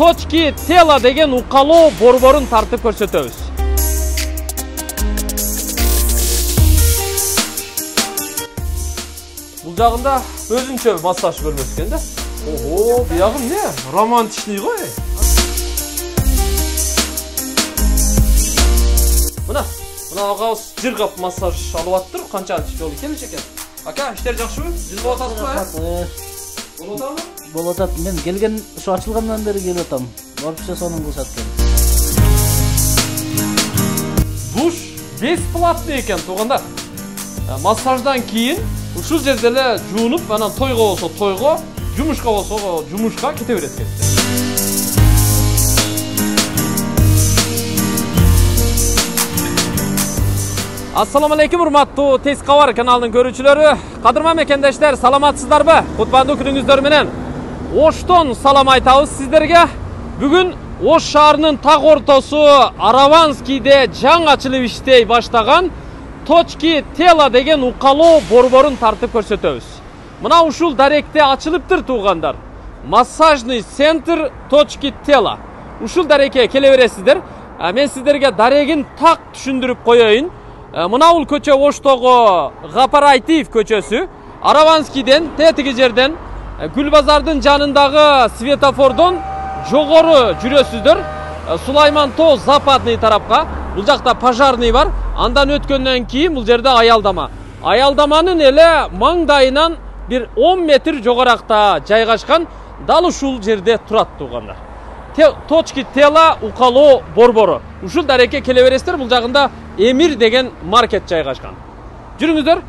точки тела деген укалоо борборун тартып көрсөтөбүз. Бул жагында өзүнчө массаж бөлмөсү экен да. Ого, буягы эмне? Романтичный го. Мына агабыз жыргап массаж алып аттыр. Канчанчы жолу келиш экен. Ака, иштер жакшыбы? Жүз болуп атасызбы? Болуп атабы? Болуп атат. Мен келген, ушу ачылгандан бери келип атам. Барыпча сонун кылышат экен. Душ бесплатный экен, туугандар. Массаждан кийин ушул жерде эле жуунуп, анан тойго болсо тойго, жумушка болсо жумушка кете берет экен. Ассаламу алейкум, урматтуу Тез кабар каналынын көрүүчүлөрү. Кадырман мекендештер, саламатсыздарбы? Кутмандуу күнүңүздөр менен Оштон салам айтабыз сиздерге. Бүгүн Ош шаарынын так ортосу Араванскийде жаңы ачылып иштей баштаган точки тела деген укалоо борборун тартып көрсөтөбүз. Мына ушул даректе ачылыптыр туугандар. Массажный центр точки тела. Ушул дарекке келе бересиздер. Мен сиздерге дарегин так түшүндүрүп коеюн. Мына бул көчө Оштогу Гапарайтиев көчөсү. Араванскийден тетиги жерден Гүлбазардын жанындагы светофордон жогору жүрөсүздөр. Сулайман Тоо западный тарапка. Бул жакта пожарный бар. Андан өткөндөн кийин бул жерде аялдама. Аялдаманын эле маңдайынан бир 10 метр жогоракта жайгашкан дал ушул жерде турат туугандар. Точки тела укалоо борбору. Ушул дарекке келе бересиздер. Бул жагында Эмир деген маркет жайгашкан. Жүрүңүздөр.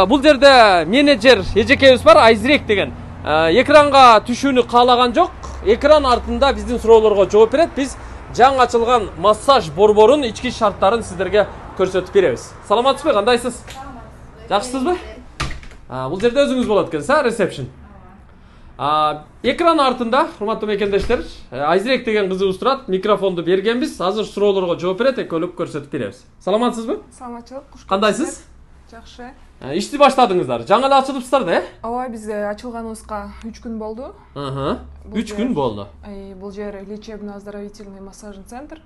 Бул жерде менеджер эжекебиз бар, Айзирек деген. Экранга түшүүнү каалаган жок. Экран артында биздин суроолорго жооп берет. Биз жаңы ачылган массаж борборунун ички шарттарын сиздерге көрсөтүп беребиз. Саламатсызбы, кандайсыз? Жакшысызбы? Бул жерде өзүңүз болот экенсиз, ресепшн. Экран артында, урматтуу мекендештер, Айзирек деген кызыбыз турат. Микрофонду бергенбиз. Азыр суроолорго жооп берет, экөөлөп көрсөтүп беребиз. Саламатсызбы? Саламатчылык. Кандайсыз? Жакшы. Ишти баштадыңыздар. Жаңы эле ачылыпсыздар да, Ооба, биз ачылганыбызга 3 күн болду. 3 күн болду. Бул жер лечебно-оздоровительный массажный центр.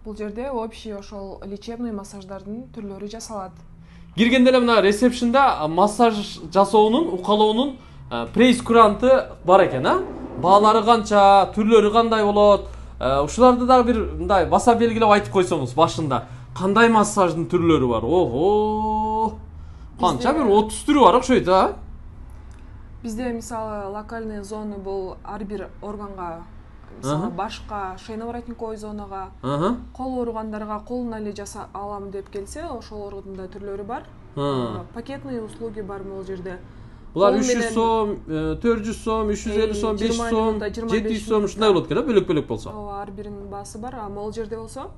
Бул жерде общий ошол лечебный массаждардын түрлөрү жасалат. Киргенде эле мына ресепшнда массаж жасоонун, укалоонун прейскуранты бар экен, Баалары канча, түрлөрү кандай болот? Ушуларды дагы бир мындай баса белгилеп айтып койсоңуз башында. Кандай массаждын түрлөрү бар? Ого! Канча бир 30 түрү бар окшойт, Бизде мисалы локальный зоны бул ар бир органга, мисалы башка, шейно-воротниковый зонага, кол ооругандарга колуна эле жаса алам деп келсе, ошолордун да түрлөрү бар. Пакетный услуги бар бул жерде. Булар 300 сом, 400 сом, 350 сом, 500 сом, 700 сом ушундай болот экен, бөлөк-бөлөк болсо. Ооба, ар биринин баасы бар. Могул жерде болсо,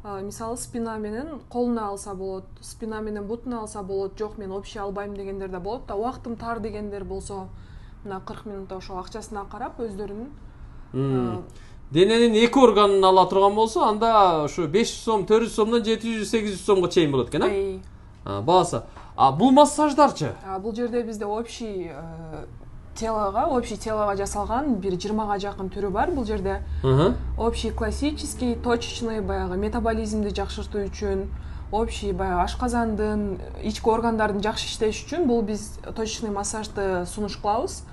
мисалы спина менен колуна алса болот, спина менен бутуна алса болот, жок мен общий албайм дегендер да болот да, убактым тар дегендер болсо, мына 40 минутта ошо акчасына карап өздөрүнүн дененин эки органын ала турган болсо, анда ушу 500 сом, 400 сомдон 700-800 сомго чейин болот экен, баасы. Бул массаждарчы? Бул жерде бизде общий телого жасалган бир 20га жакын түрү бар. Бул жерде общий классический, точечный, баягы метаболизмди жакшыртуу үчүн, общий баягы ашказандын, ички органдардын жакшы иштеш үчүн бул биз точечный массажды сунуш кылабыз.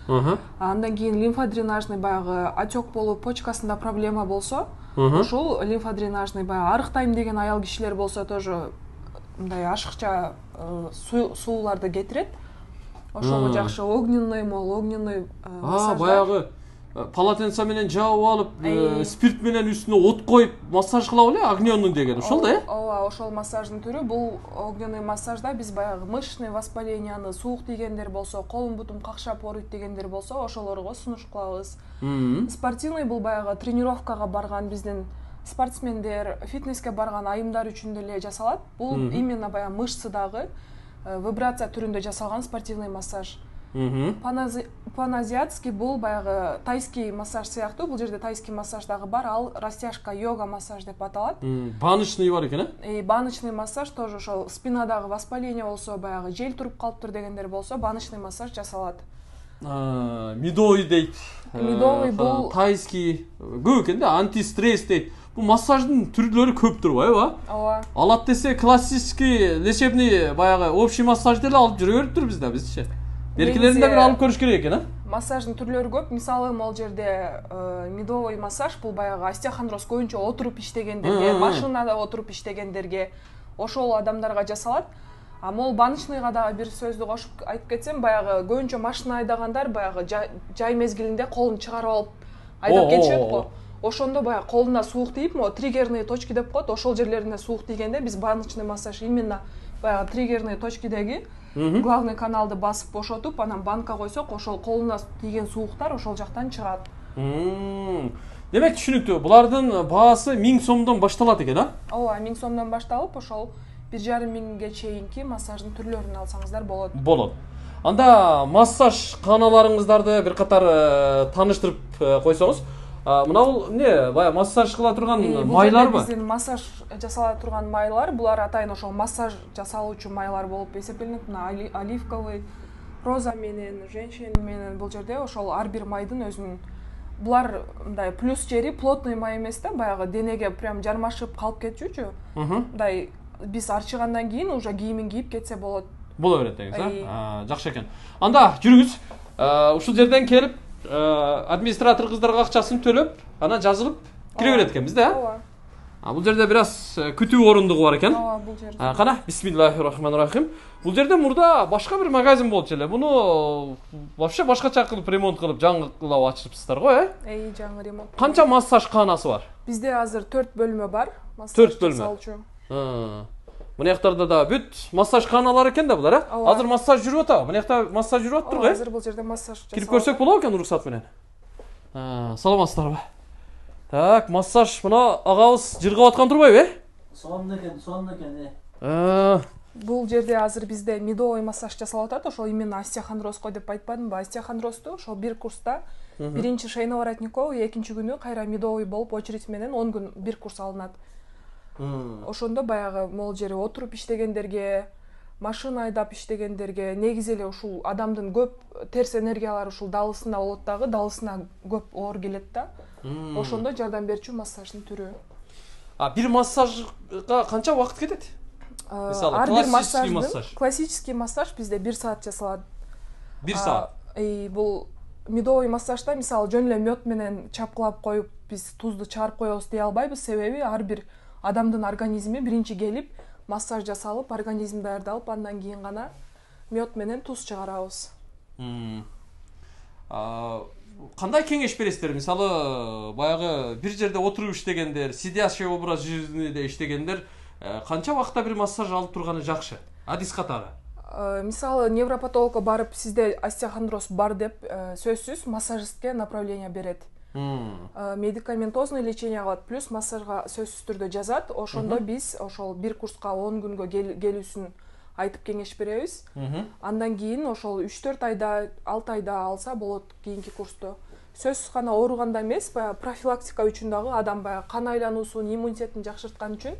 Андан кийин лимфодренажный баягы отек болуп, почкасында проблема болсо, ушул лимфодренажный баягы арыктайм деген аял кишилер болсо тоже мындай ашыкча сууларды кетирет. Ошого жакшы огненный массаж. Баягы полотенце менен жаап алып, спирт менен үстүнө от коюп массаж кылабы эле, огненный деген, ошол да, Ооба, ошол массаждын түрү. Бул огненный массажда биз баягы мышечный воспаленияны, суук тийгендер болсо, колум бутум какшап ооруйт дегендер болсо, ошолорго сунуш кылабыз. Спортивный бул баягы тренировкага барган биздин спортсмендер, фитнеске барган айымдар үчүн деле жасалат. Бул именно баягы мышцыдагы вибрация түрүндө жасалган спортивный массаж. Паназиатский бул баягы тайский массаж сыяктуу. Бул жерде тайский массаж дагы бар. Ал растяжка йога массаж деп аталат. Баночный бар экен, баночный массаж тоже ошол спинадагы воспаление болсо, баягы жел туруп калыптыр дегендер болсо, баночный массаж жасалат. Медовый дейт. Медовый бул тайский көп экен да, антистресс дейт. Бул массаждын түрлөрү көп турбайбы? ооба. Алат десе классический лечебный баягы общий массаж деле алып жүрө бериптир бизчи. Беркилеринде бир алып көрүш керек экен, Массаждын түрлөрү көп. Мисалы, могул жерде медовый массаж бул баягы остеохондроз көбүнчө отуруп иштегендерге, машинада отуруп иштегендерге, ошол адамдарга жасалат. А могул баночныйга дагы бир сөздү кошуп айтып кетсем, баягы көбүнчө машина айдагандар баягы жай мезгилинде колун чыгарып алып айдап кетишет го. Ошондо баягы колуна суук тийип, могу триггерные точки деп коет, ошол жерлерине суук тийгенде биз баночный массаж именно баягы триггерные точкидеги главный каналды басып бошотуп, анан банка койсок, ошол колуна тийген сууктар ошол жактан чыгат. Демек түшүнүктүү. Булардын баасы 1000 сомдон башталат экен, Ооба, 1000 сомдон башталып, ошол 1,5 миңге чейинки массаждын түрлөрүн алсаңыздар болот. Болот. Анда массаж каналарыңыздарды бир катар тааныштырып койсоңуз. Мына бул эмне? Бая массаж кыла турган майларбы? Биздин массаж жасала турган майлар, булар атайын ошол массаж жасалуучу майлар болуп эсептелинет. Мына оливковый, роза менен, женщин менен бул жерде ошол ар бир майдын өзүнүн булар мындай плюс жери плотный май эмес да, баягы денеге прям жармашып калып кетчүчү. Мындай биз арчыгандан кийин уже кийимин кийип кетсе болот. Боло берет деңиз, жакшы экен. Анда жүрүңүз. Ушул жерден келип администратор кыздарга акчасын төлөп, анан жазылып кире берет экенбиз да. Ооба. Бул жерде бир аз күтүү орундугу бар экен. Ооба, бул жерде. Кана, бисмиллахир-рахманир-рахим. Бул жерде мурда башка бир магазин болчу эле. Муну вообще башкача кылып ремонт кылып, жаңылап ачыпсыздар го, жаңы ремонт. Канча массаж каанасы бар? Бизде азыр 4 бөлмө бар. 4 бөлмө. Мына жактарда да бүт массаж кааналары экен да булар, Азыр массаж жүрүп атабы? Мына жакта массаж жүрүп атыптыр го, Азыр бул жерде массаж жасалат. Кирип көрсөк болобу экен уруксат менен? Саламатсыздарбы? Так, массаж мына агабыз жыргап аткан турбайбы, Сонун экен. Бул жерде азыр бизде медовый массаж жасалып атат. Ошол именно остеохондрозго деп айтпадымбы? Остеохондрозду ошол бир курста биринчи шейно-воротниковый, экинчи күнү кайра медовый болуп очередь менен 10 күн бир курс алынат. Ошондо баягы могул жери отуруп иштегендерге, машина айдап иштегендерге, негизи эле ушул адамдын көп терс энергиялары ушул далысында болот дагы, далысына көп оор келет да. Ошондо жардам берчү массаждын түрү. Бир массажга канча убакыт кетет? Мисалы, классический массаж бизде 1 саат жасалат. 1 саат. Бул медовый массажда мисалы жөн эле мед менен чапкылап коюп биз тузду чыгарып коебуз дей албайбыз, себеби ар бир адамдын организми биринчи келип массаж жасалып, организм даярдалып, андан кийин гана мед менен туз чыгарабыз. Кандай кеңеш бересиздер? Мисалы, баягы бир жерде отуруп иштегендер, сидящий образ жизниде иштегендер канча убакытта бир массаж алып турганы жакшы? Адис катары. Мисалы, невропатологко барып, сизде остеохондроз бар деп, сөзсүз массажистке направление берет. Медикаментозный лечение кылат, плюс массажга сөзсүз түрдө жазат. Ошондо биз ошол бир курска 10 күнгө келүүсүн айтып кеңеш беребиз. Андан кийин ошол 3-4 айда, 6 айда алса болот кийинки курсту. Сөзсүз гана ооруганда эмес, баягы профилактика үчүн дагы адам баягы кан айлануусун, иммунитетин жакшырткан үчүн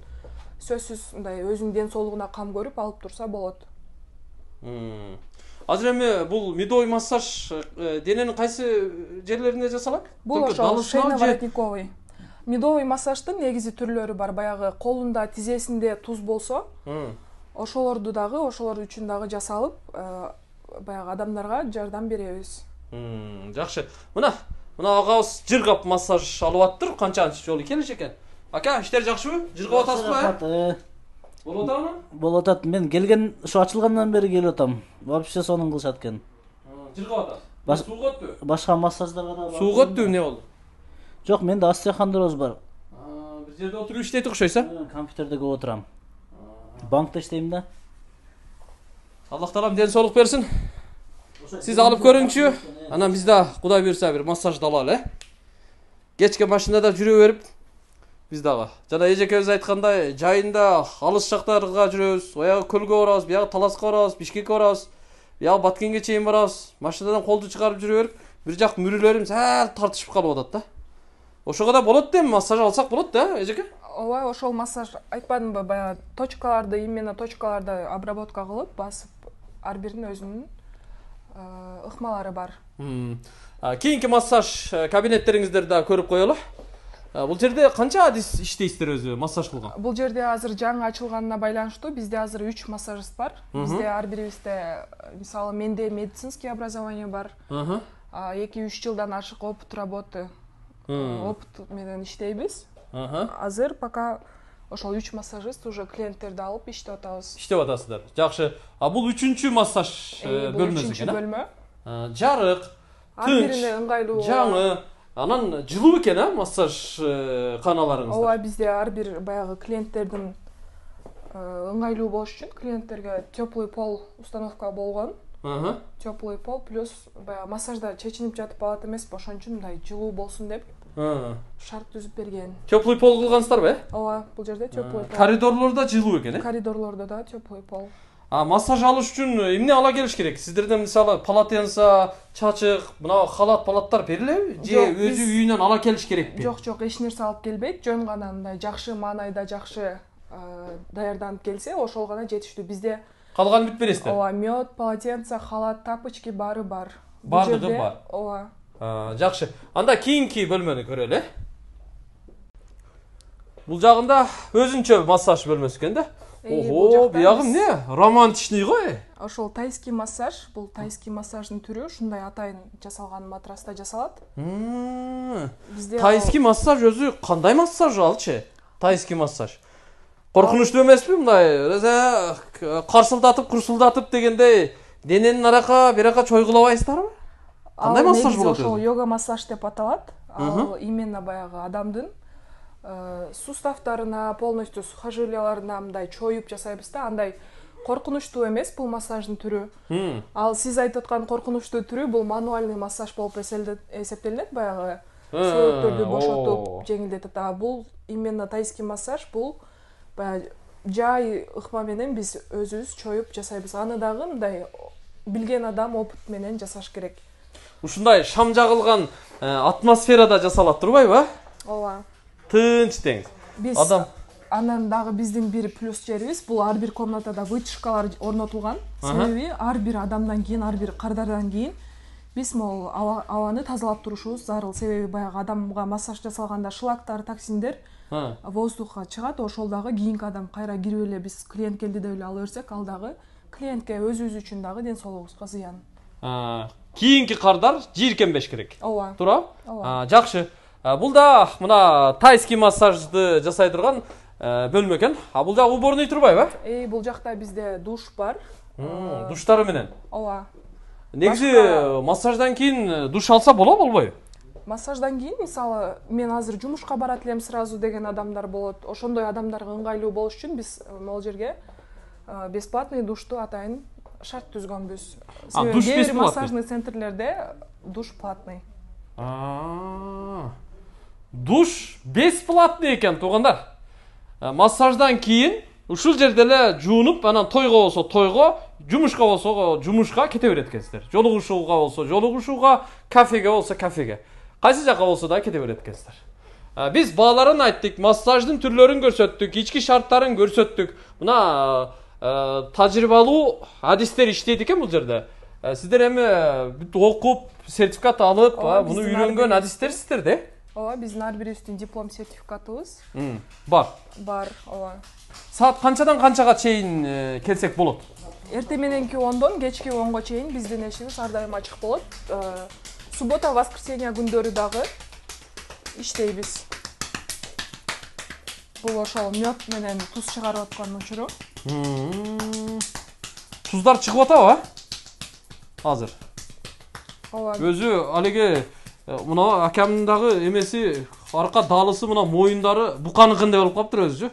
сөзсүз мындай өзүнүн ден соолугуна кам көрүп алып турса болот. Азыр эми бул медовый массаж дененин кайсы жерлерине жасалат? Бул ошол шейно-воротниковый. Медовый массаждын негизи түрлөрү бар. Баягы колунда, тизесинде туз болсо, ошолорду дагы, ошолор үчүн дагы жасалып, баягы адамдарга жардам беребиз. Жакшы. Мына агабыз жыргап массаж алып аттыр. Канчанчы жолу келиш экен? Ака, иштер жакшыбы? Жыргап атасызбы? Болот атабы? Болот атат. Мен келген ушу ачылгандан бери келип атам. Вообще сонун кылышат экен. Жыргап атасыз. Сууга өттү? Башка массаждарга да. Сууга өттү, эмне болду? Жок, менде остеохондроз бар. Бир жерде отуруп иштейт окшойсуз, Компьютерде көп отурам. Банкта иштейм да. Аллах таалам ден соолук берсин. Сиз алып көрүңчү. Анан биз да Кудай буйрса бир массажды алалы, Кечке машинада жүрө берип, биз дагы жана эжекебиз айткандай, жайында алыс жактарга жүрөбүз. Оягы көлгө барабыз, биягы Таласка барабыз, Бишкекке барабыз, биягы Баткенге чейин барабыз. Машинадан колду чыгарып жүрө берип, бир жак мүрүлөрүм сәл тартышып калып атат да. Ошого да болот да, массаж алсак болот да, эжеке? Ооба, ошол массаж айтпадымбы, баягы точкаларды, именно точкаларды обработка кылып, басып, ар биринин өзүнүн ыкмалары бар. Кийинки массаж кабинеттериңиздерди да көрүп коелу. Бул жерде канча адис иштейсиздер өзү массаж кылган? Бул жерде азыр жаңы ачылганына байланыштуу бизде азыр 3 массажист бар. Бизде ар бирибизде мисалы менде медицинский образование бар. 2-3 жылдан ашык опыт работы. Опыт менен иштейбиз. Азыр пока ошол 3 массажист уже клиенттерди алып иштеп атабыз. Иштеп атасыздар. Жакшы. Бул 3-чү массаж бөлмөсү экен. 3-чү бөлмө. Жарык, тынч, ыңгайлуу. жаңы. Анан жылуу экен, массаж каналарыңызда. Ооба, бизде ар бир баягы клиенттердин ыңгайлуу болуш үчүн клиенттерге теплый пол установка болгон. Теплый пол плюс баягы массажда чечинип жатып алат эмеспи, ошон үчүн мындай жылуу болсун деп шарт түзүп берген. Теплый пол кылгансыздарбы? Ооба, бул жерде теплый пол. Коридорлордо жылуу экен, Коридорлордо да теплый пол. Массаж алыш үчүн эмне ала келиш керек? Сиздерден мисалы полотенце, чачык, мына халаттар берилеби? Же өзү үйүнөн ала келиш керекпи? Жок, эч нерсе алып келбейт. Жөн гана мындай жакшы маанайда жакшы даярданып келсе, ошол гана жетиштүү. Бизде калганын бүт бересиздер. Ооба, мед, полотенце, халат, тапочки баары бар. Бардыгы бар. Ооба. Жакшы. Анда кийинки бөлмөнү көрөлү. Бул жагында өзүнчө массаж бөлмөсү экен да. Ого, биягы эмне? Романтичный го. Ошол тайский массаж, бул тайский массаждын түрү, ушундай атайын жасалган матраста жасалат. Бизде тайский массаж өзү кандай массаж алчы? Тайский массаж. Коркунучтуу эмеспи мындай? Карсылдатып, курсулдатып дегендей дененин арака, бирака чойгулабайсыздарбы? Кандай массаж болот? Ошол йога массаж деп аталат. Ал именно баягы адамдын суставтарына, полностью сухожилияларына мындай чоюп жасайбыз да, андай коркунучтуу эмес бул массаждын түрү. Ал сиз айтып аткан коркунучтуу түрү бул мануальный массаж болуп эсептелинет, баягы сөөктөрдү бошотуп, жеңилдетип. Бул именно тайский массаж, бул баягы жай ыкма менен биз өзүбүз чоюп жасайбыз. Аны дагы мындай билген адам опыт менен жасаш керек. Ушундай шам жагылган атмосферада жасалат турбайбы? Ооба. Тынч деңиз. Биз анан дагы биздин бир плюс жерибиз, бул ар бир комнатада вытяжкалар орнотулган. Себеби ар бир адамдан кийин, ар бир кардардан кийин биз могул абаны тазалап турушубуз зарыл. Себеби баягы адамга массаж жасалганда шлактар, токсиндер воздухка чыгат, ошол дагы кийинки адам кайра кирип эле биз клиент келди деп эле ала берсек, ал дагы клиентке өзүбүз үчүн дагы ден соолугубузга зыян. Кийинки кардар жийиркенбеш керек. Ооба. Туурабы? Жакшы. Бул да мына тайский массажды жасай турган бөлмө экен. Бул жак уборный турбайбы? Бул жакта бизде душ бар. Душтары менен. Ооба. Негизи массаждан кийин душ алса болобойбу? Массаждан кийин мисалы мен азыр жумушка барат элем сразу деген адамдар болот. Ошондой адамдарга ыңгайлуу болуш үчүн биз могул жерге бесплатный душту атайын шарт түзгөнбүз. Душ бесплатный? Массажный центрлерде душ платный. Душ бесплатный экен туугандар. Массаждан кийин ушул жерде эле жуунуп, анан тойго болсо тойго, жумушка болсо жумушка кете берет экенсиздер. Жолугушууга болсо жолугушууга, кафеге болсо кафеге. Кайсы жака болсо да кете берет экенсиздер. Биз бааларын айттык, массаждын түрлөрүн көрсөттүк, ички шарттарын көрсөттүк. Мына тажрыйбалуу адистер иштейт экен бул жерде. Сиздер эми окуп, сертификат алып, муну үйрөнгөн адистерсиздер да? Ооба, биздин ар бирибиздин диплом сертификатыбыз бар. Бар, ооба. Саат канчадан канчага чейин келсек болот? Эртең мененки 10дон кечки 10го чейин биздин эшигибиз ар дайым ачык болот. Суббота, воскресенье күндөрү дагы иштейбиз. Бул ошол мед менен туз чыгарып аткан учуру. Туздар чыгып атабы? Азыр. Ооба. Өзү алеге мына акамдын дагы эмеси арка даалысы мына моюндары буканыкындай болуп калыптыр өзүчү.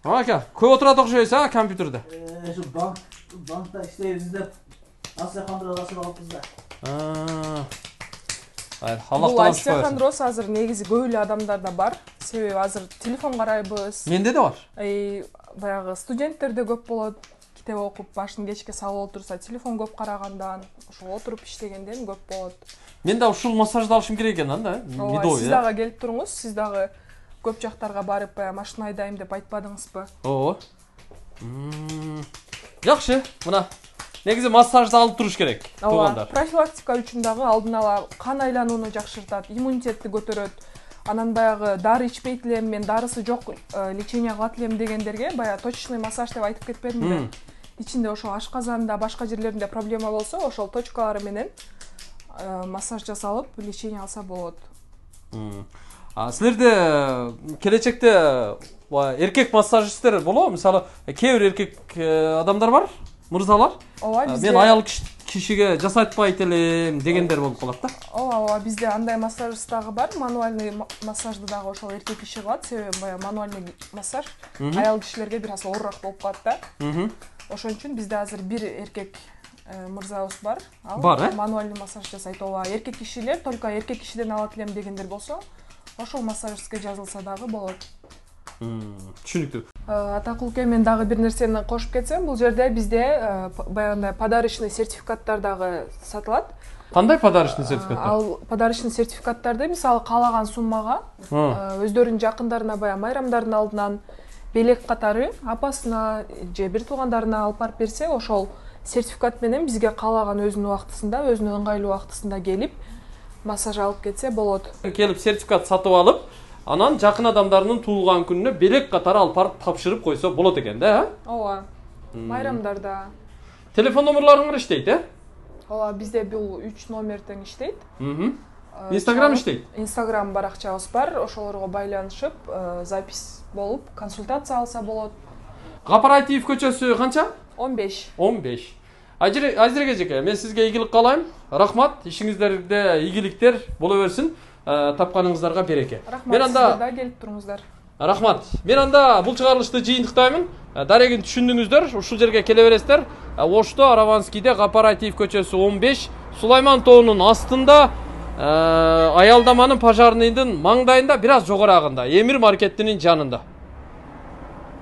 Ака, көп отурат окшойсуз компьютерде. Шу банкта иштейбиз деп Астрахандроз ачып алыппыз да. Аллахтан Астрахандроз азыр негизи көп эле адамдарда бар. Себеби азыр телефон карайбыз. Менде да бар. Баягы студенттерде көп болот. Китеп окуп, башын кечке салып отурса, телефон көп карагандан, ошол отуруп иштегенден көп болот. Мен да ушул массажды алышым керек экен анда, медовый. Сиз дагы келип туруңуз, сиз дагы көп жактарга барып, машина айдайм деп айтпадыңызбы? Ооба. Жакшы, мына негизи массажды алып туруш керек туугандар. Профилактика үчүн дагы алдын ала кан айланууну жакшыртат, иммунитетти көтөрөт. Анан баягы дары ичпейт элем, мен дарысы жок лечение кылат элем дегендерге баягы точечный массаж деп айтып кетпедимби? Ичинде ошо ашказанда, башка жерлеринде проблема болсо, ошол точкалары менен массаж жасалып, лечение алса болот. Силерде келечекте эркек массажисттер болобу? Мисалы, кээ бир эркек адамдар бар, мырзалар. Ооба, бизде мен аял кишиге жасатпайт элем дегендер болуп калат да. Ооба, бизде андай массажист дагы бар, мануальный массажды дагы ошол эркек киши кылат, себеби баягы мануальный массаж аял кишилерге бир аз оорураак болуп калат да. Ошон үчүн бизде азыр бир эркек мырзабыз бар. Ал мануальный массаж жасайт. Ооба, эркек кишилер только эркек кишиден алат элем дегендер болсо, ошол массажистке жазылса дагы болот. Түшүнүктүү. Атакулке, мен дагы бир нерсени кошуп кетсем, бул жерде бизде баягындай подарочный сертификаттар дагы сатылат. Кандай подарочный сертификаттар? Ал подарочный сертификаттарды мисалы каалаган суммага өздөрүнүн жакындарына баягы майрамдардын алдынан белек катары апасына же бир туугандарына алып барып берсе, ошол сертификат менен бизге каалаган өзүнүн убактысында, өзүнүн ыңгайлуу убактысында келип массаж алып кетсе болот. Келип сертификат сатып алып, анан жакын адамдарынын туулган күнүнө белек катары алып барып тапшырып койсо болот экен да, Ооба. Майрамдарда. Телефон номерларыңар иштейт, Ооба, бизде бул 3 номер тең иштейт. Инстаграм иштейт. Инстаграм баракчабыз бар, ошолорго байланышып, запись болуп, консультация алса болот. Кооператив көчөсү канча? 15. 15. Азиреге эжеке, мен сизге ийгилик каалайм. Рахмат, ишиңиздерде ийгиликтер боло берсин. Тапканыңыздарга береке. Рахмат, сиздер да келип туруңуздар. Рахмат. Мен анда бул чыгарылышты жыйынтыктаймын. Дарегин түшүндүңүздөр, ушул жерге келе бересиздер. Ошто Араванскийде кооператив көчөсү 15, Сулайман тоонун астында, аялдаманын пожарныйдын маңдайында, бир аз жогорагында, Эмир маркетинин жанында.